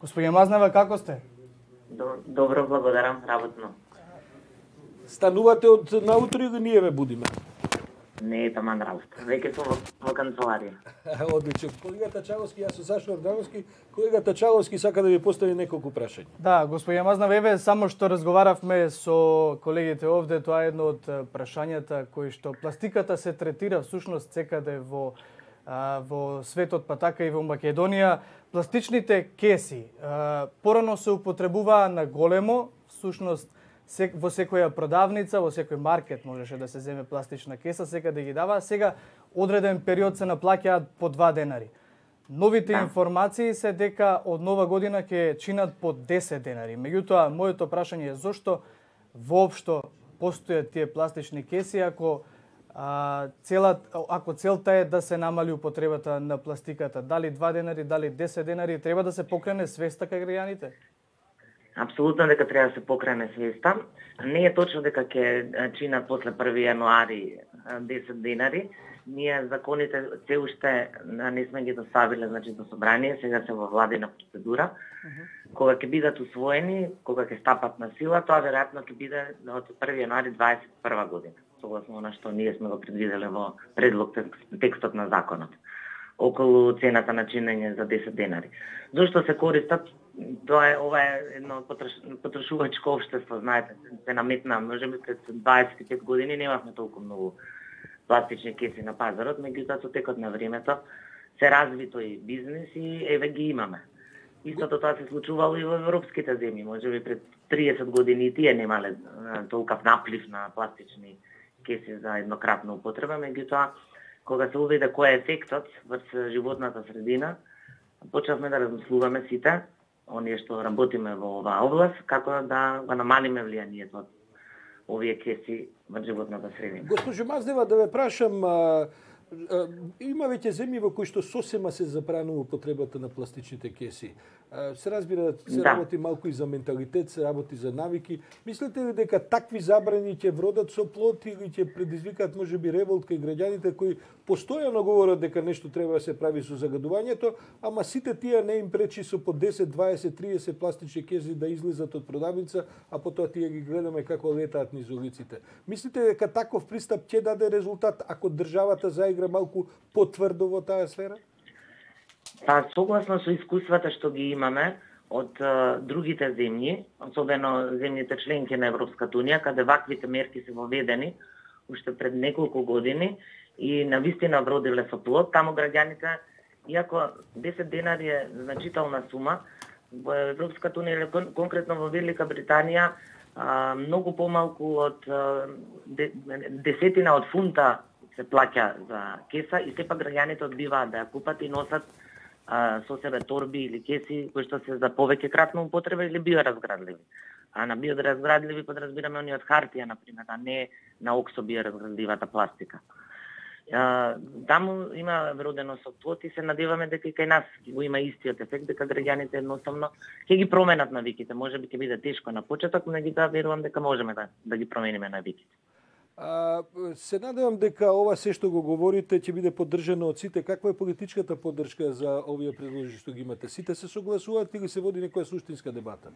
Господине Мазнева, како сте? Добро, благодарам, работно. Станувате од наутро или ние ве будиме? Не е таман работа. Веќе сум во канцеларија. Одлично. Колегата Чаловски, јас сум Сашо Ордановски. Колегата Чаловски сака да ви постави неколку прашања. Да, господине Мазнева, еве само што разговаравме со колегите овде, тоа е едно од прашањата кои што пластиката се третира всушност секаде во светот, па така и во Македонија. Пластичните кеси порано се употребуваа на големо, всушност во секоја продавница, во секој маркет можеше да се земе пластична кеса, секаде ги дава, сега одреден период се наплаќаат по 2 денари. Новите информации се дека од нова година ќе чинат по 10 денари. Меѓутоа, моето прашање е зошто воопшто постојат тие пластични кеси ако целта е да се намали употребата на пластиката, дали 2 денари, дали 10 денари, треба да се покрене свеста кај граѓаните? Апсолутно дека треба да се покрене свеста. Не е точно дека ќе чинат после 1 јануари 10 денари. Ние законите се уште не сме ги доставиле, значи до собрание, сега се во владина процедура. Кога ќе бидат усвоени, кога ќе стапат на сила, тоа веројатно ќе биде од 1 јануари 2021 година. Согласно на што ние сме го предвиделе во предлог текстот на законот околу цената на чинење за 10 денари. Зошто се користат? Ова е едно потрошувачко општество, знаете, се наметна, можеби пред 25 години немавме толку многу пластични кеси на пазарот, меѓутоа со текот на времето се разви тој бизнис и еве ги имаме. Истото тоа се случувало и во европските земји, можеби пред 30 години и тие немале толкав наплив на пластични кеси за еднократна употреба, меѓутоа кога се уведе кој е ефектот врз животната средина, почнавме да размислуваме сите, оние што работиме во оваа област, како да го намалиме влијанието од овие кеси во животната средина. Госпожо Мазнева, да ве прашам, има веќе земји во кои што сосема се забранува употребата на пластичните кеси. Се разбира, се работи малку и за менталитет, се работи за навики. Мислите ли дека такви забрани ќе вродат со плод или ќе предизвикаат можеби револт кај граѓаните кои постојано говорат дека нешто треба да се прави со загадувањето, ама сите тие не им пречи со по 10, 20, 30 пластични кеси да излезат од продавница, а потоа тие ги гледаме како летаат низ улиците. Мислите дека таков пристап ќе даде резултат ако државата заигра малку потврдо во таа сфера? Па, согласно со искуствата што ги имаме од другите земји, особено земјите членки на Европската унија, каде ваквите мерки се воведени уште пред неколку години и навистина вродиле со плод, таму граѓаните, иако 10 денари е значителна сума, во Европската унија, конкретно во Велика Британија, многу помалку од десетина од фунта се плаќа за кеса и сепак граѓаните одбиваат да ја купат и носат со себе торби или кеси кои што се за повеќе кратна употреба или биоразградливи. А на биоразградливи подразбираме они од хартија, например, а не на оксо биоразградливата пластика. Таму има вродено со плод и се надеваме дека и кај нас го има истиот ефект, дека граѓаните едноставно ќе ги променат навиките. Можеби ќе биде тешко на почеток, меѓутоа верувам дека можеме да ги промениме навиките. Се надевам дека ова се што го говорите ќе биде поддржано од сите. Каква е политичката поддршка за овие предложи што ги имате? Сите се согласуваат или се води некоја суштинска дебата?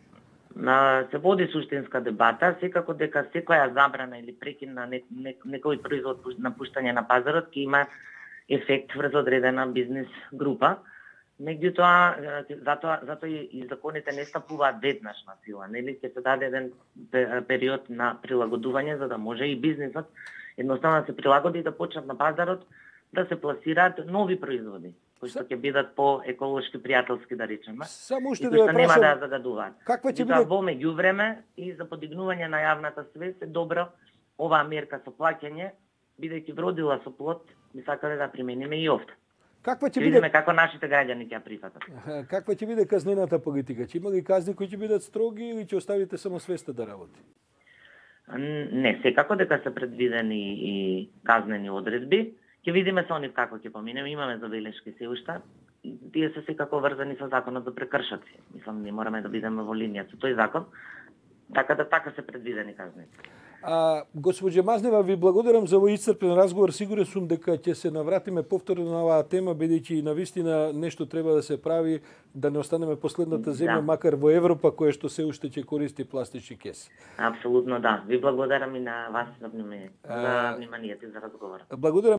Се води суштинска дебата, секако дека секоја забрана или прекин на некој производ на пуштање на пазарот ќе има ефект врз одредена бизнис група. Меѓутоа, затоа и законите не стапуваат веднаш на сила, нели ќе се даде еден период на прилагодување за да може и бизнисот едноставно да се прилагоди и да почнат на пазарот да се пласираат нови производи кои што ќе бидат по еколошки пријателски, да речеме. Само уште да ве нема да загадуваат. Каква ќе биде во меѓувреме и за подигнување на јавната свест е добро оваа мерка со плаќање, бидејќи вродила со плод, би сакале да примениме и овде. Каква ќе биде како нашите граѓани ќе ја прифатат? Каква ќе биде казнената политика? Ќе има ли казни кои ќе бидат строги или ќе оставите само свеста да работи? Не, секако дека се предвидени и казнени одредби. Ќе видиме со нив како ќе поминеме. Имаме забелешки се уште. Тие се секако врзани со законот за прекршоци. Мислам, не мораме да бидеме во линија со тој закон. Така се предвидени казни. Госпоđe Мазнева, ви благодарам за овој исцрпен разговор. Сигурен сум дека ќе се навратиме повторно на оваа тема, бидејќи навистина нешто треба да се прави, да не останеме последната земја, макар во Европа, која што се уште ќе користи пластични кеси. Апсолутно да. Ви благодарам и на вас за вниманието и за разговорот. Благодарам.